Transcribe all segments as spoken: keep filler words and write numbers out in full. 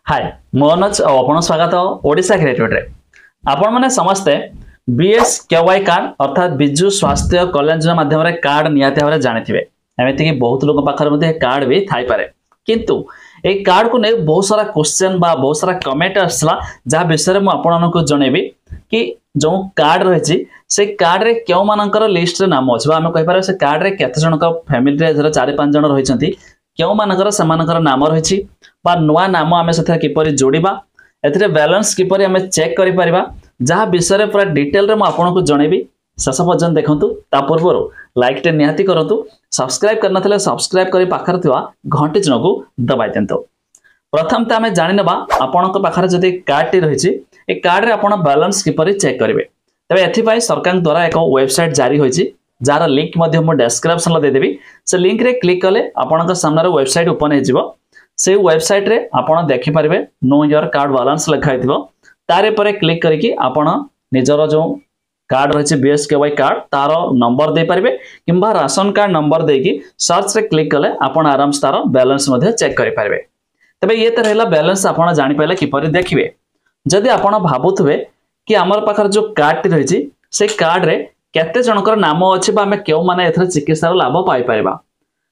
ହାଏ ମୁଁ ଅନୁଜ ଆଉ ଆପଣଙ୍କୁ ସ୍ୱାଗତ ଓଡ଼ିଶା କ୍ରିଏଟିଭିଟିରେ ଆପଣମାନେ ସମସ୍ତେ B S K Y card ଅର୍ଥାତ୍ ବିଜୁ ସ୍ୱାସ୍ଥ୍ୟ କଲ୍ୟାଣ ଯୋଜନା ମାଧ୍ୟମରେ କାର୍ଡ ନିହାତି ଭାବରେ ଜାଣିଥିବେ ଏମିତିକି ବହୁତ ଲୋକ ପାଖରେ ମଧ୍ୟ ଏ କାର୍ଡ ବି ଥାଇପାରେ କିନ୍ତୁ ଏଇ କାର୍ଡକୁ ନେଇ ବହୁତ ସାରା କ୍ୱେଶ୍ଚେନ୍ ବା ବହୁତ ସାରା କମେଣ୍ଟ ଆସିଥିଲା ଯାହା ବିଷୟରେ ମୁଁ ଆପଣମାନଙ୍କୁ ଜଣେଇବି କି ଯେଉଁ କାର୍ଡ ରହିଛି ସେଇ କାର୍ଡରେ କେଉଁମାନଙ୍କର ଲିଷ୍ଟରେ ନାମ ଅଛି ବା ଆମେ କହିପାରିବା ସେ କାର୍ଡରେ କେତେ ଜଣଙ୍କ ଫ୍ୟାମିଲିରେ ଧର ଚାରି ପାଞ୍ଚ ଜଣ ରହିଛନ୍ତି କେଉଁମାନଙ୍କର ସେମାନଙ୍କର ନାମ ରହିଛି ବା ନୂଆ ନାମ ଆମେ ସେଥିରେ କିପରି ଯୋଡ଼ିବା ଏଥିରେ ବାଲାନ୍ସ କିପରି ଆମେ ଚେକ୍ କରିପାରିବା ଯାହା ବିଷୟରେ ପୁରା ଡିଟେଲରେ ମୁଁ ଆପଣଙ୍କୁ ଜଣେଇବି ଶେଷ ପର୍ଯ୍ୟନ୍ତ ଦେଖନ୍ତୁ ତା ପୂର୍ବରୁ ଲାଇକ୍ଟେ ନିହାତି କରନ୍ତୁ ସବସ୍କ୍ରାଇବ୍ କରିନଥିଲେ ସବସ୍କ୍ରାଇବ୍ କରି ପାଖରେ ଥିବା ଘଣ୍ଟି ଚିହ୍ନକୁ ଦବାଇ ଦିଅନ୍ତୁ ପ୍ରଥମ ତ ଆମେ ଜାଣିନେବା ଆପଣଙ୍କ ପାଖରେ ଯଦି କାର୍ଡଟି ରହିଛି ଏ କାର୍ଡରେ ଆପଣ ବାଲାନ୍ସ କିପରି ଚେକ୍ କରିବେ ତେବେ ଏଥିପାଇଁ ସରକାରଙ୍କ ଦ୍ୱାରା ଏକ ୱେବସାଇଟ୍ ଜାରି ହୋଇଛି ଯାହାର ଲିଙ୍କ ମଧ୍ୟ ମୁଁ ଡେସ୍କ୍ରିପସନରେ ଦେଇଦେବି ସେ ଲିଙ୍କରେ କ୍ଲିକ୍ କଲେ ଆପଣଙ୍କ ସାମ୍ନାରେ ୱେବସାଇଟ୍ ଓପନ୍ ହେଇଯିବ ସେଇ ୱେବସାଇଟ୍ରେ ଆପଣ ଦେଖିପାରିବେ ନୋ your card balance ଲେଖା ହେଇଥିବ ତାରି ଉପରେ କ୍ଲିକ୍ କରିକି ଆପଣ ନିଜର ଯେଉଁ କାର୍ଡ ରହିଛି B S K Y card ତାର ନମ୍ବର ଦେଇପାରିବେ କିମ୍ବା ରାସନ କାର୍ଡ ନମ୍ବର ଦେଇକି ସର୍ଚ୍ଚରେ କ୍ଲିକ୍ କଲେ ଆପଣ ଆରାମସେ ତାର ବାଲାନ୍ସ ମଧ୍ୟ ଚେକ୍ କରିପାରିବେ ତେବେ ଇଏ ତ ରହିଲା ବାଲାନ୍ସ ଆପଣ ଜାଣିପାରିଲେ କିପରି ଦେଖିବେ ଯଦି ଆପଣ ଭାବୁଥିବେ କି ଆମର ପାଖରେ ଯେଉଁ କାର୍ଡଟି ରହିଛି ସେଇ କାର୍ଡରେ କେତେ ଜଣଙ୍କର ନାମ ଅଛି ବା ଆମେ କେଉଁମାନେ ଏଥିରେ ଚିକିତ୍ସାର ଲାଭ ପାଇପାରିବା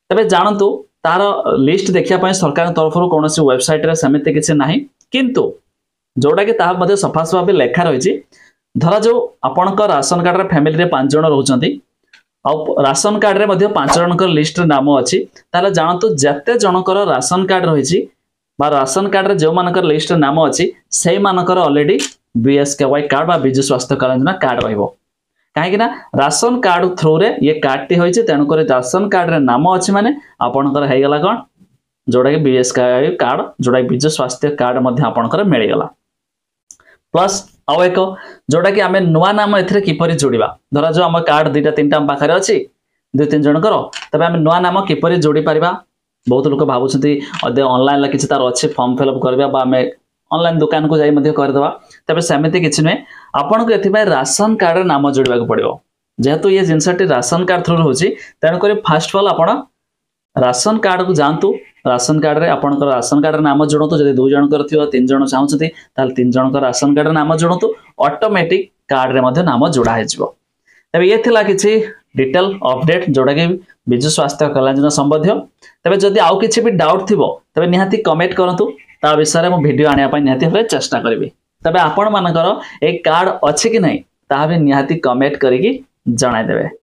ତେବେ ଜାଣନ୍ତୁ ତାର ଲିଷ୍ଟ ଦେଖିବା ପାଇଁ ସରକାରଙ୍କ ତରଫରୁ କୌଣସି ୱେବସାଇଟ୍ରେ ସେମିତି କିଛି ନାହିଁ କିନ୍ତୁ ଯୋଉଟାକି ତାହା ମଧ୍ୟ ସଫା ସଫା ଭାବେ ଲେଖା ରହିଛି ଧରାଯାଉ ଆପଣଙ୍କ ରାସନ କାର୍ଡରେ ଫ୍ୟାମିଲିରେ ପାଞ୍ଚ ଜଣ ରହୁଛନ୍ତି ଆଉ ରାସନ କାର୍ଡରେ ମଧ୍ୟ ପାଞ୍ଚ ଜଣଙ୍କର ଲିଷ୍ଟରେ ନାମ ଅଛି ତାହେଲେ ଜାଣନ୍ତୁ ଯେତେ ଜଣଙ୍କର ରାସନ କାର୍ଡ ରହିଛି ବା ରାସନ କାର୍ଡରେ ଯେଉଁମାନଙ୍କର ଲିଷ୍ଟରେ ନାମ ଅଛି ସେଇମାନଙ୍କର already B S K Y card ବା ବିଜୁ ସ୍ୱାସ୍ଥ୍ୟ କଲ୍ୟାଣ ଯୋଜନା କାର୍ଡ ରହିବ କାହିଁକି ନା ରାସନ କାର୍ଡ ଥ୍ରୁରେ ଇଏ କାର୍ଡଟି ହୋଇଛି ତେଣୁକରି ରାସନ କାର୍ଡରେ ନାମ ଅଛି ମାନେ ଆପଣଙ୍କର ହେଇଗଲା କ'ଣ ଯୋଉଟାକି B S K Y card ଯୋଉଟାକି ବିଜୁ ସ୍ୱାସ୍ଥ୍ୟ କାର୍ଡ ମଧ୍ୟ ଆପଣଙ୍କର ମିଳିଗଲା ପ୍ଲସ୍ ଆଉ ଏକ ଯୋଉଟାକି ଆମେ ନୂଆ ନାମ ଏଥିରେ କିପରି ଯୋଡ଼ିବା ଧରାଯାଉ ଆମ କାର୍ଡ ଦୁଇଟା ତିନିଟା ଆମ ପାଖରେ ଅଛି ଦୁଇ ତିନି ଜଣଙ୍କର ତେବେ ଆମେ ନୂଆ ନାମ କିପରି ଯୋଡ଼ି ପାରିବା ବହୁତ ଲୋକ ଭାବୁଛନ୍ତି ଅନଲାଇନରେ କିଛି ତାର ଅଛି ଫର୍ମ ଫିଲ୍ଅପ୍ କରିବା ବା ଆମେ ଅନଲାଇନ ଦୋକାନକୁ ଯାଇ ମଧ୍ୟ କରିଦେବା ତେବେ ସେମିତି କିଛି ନୁହେଁ ଆପଣଙ୍କୁ ଏଥିପାଇଁ ରାସନ କାର୍ଡରେ ନାମ ଯୋଡ଼ିବାକୁ ପଡ଼ିବ ଯେହେତୁ ଇଏ ଜିନିଷଟି ରାସନ କାର୍ଡ ଥ୍ରୁରୁ ହେଉଛି ତେଣୁକରି ଫାଷ୍ଟ ଅଫ୍ ଅଲ୍ ଆପଣ ରାସନ କାର୍ଡକୁ ଯାଆନ୍ତୁ ରାସନ କାର୍ଡରେ ଆପଣଙ୍କର ରାସନ କାର୍ଡରେ ନାମ ଯୋଡ଼ନ୍ତୁ ଯଦି ଦୁଇ ଜଣଙ୍କର ଥିବ ତିନି ଜଣ ଚାହୁଁଛନ୍ତି ତାହେଲେ ତିନି ଜଣଙ୍କର ରାସନ କାର୍ଡରେ ନାମ ଯୋଡ଼ନ୍ତୁ ଅଟୋମେଟିକ୍ କାର୍ଡରେ ମଧ୍ୟ ନାମ ଯୋଡ଼ା ହେଇଯିବ ତେବେ ଇଏ ଥିଲା କିଛି ଡିଟେଲ ଅପଡେଟ୍ ଯୋଉଟାକି ବିଜୁ ସ୍ୱାସ୍ଥ୍ୟ କଲ୍ୟାଣ ଯୋଜନା ସମ୍ବନ୍ଧୀୟ ତେବେ ଯଦି ଆଉ କିଛି ବି ଡାଉଟ୍ ଥିବ ତେବେ ନିହାତି କମେଣ୍ଟ କରନ୍ତୁ ତା ବିଷୟରେ ମୁଁ ଭିଡ଼ିଓ ଆଣିବା ପାଇଁ ନିହାତି ଭାବରେ ଚେଷ୍ଟା କରିବି ତେବେ ଆପଣମାନଙ୍କର ଏଇ କାର୍ଡ ଅଛି କି ନାହିଁ ତାହା ବି ନିହାତି କମେଣ୍ଟ କରିକି ଜଣାଇଦେବେ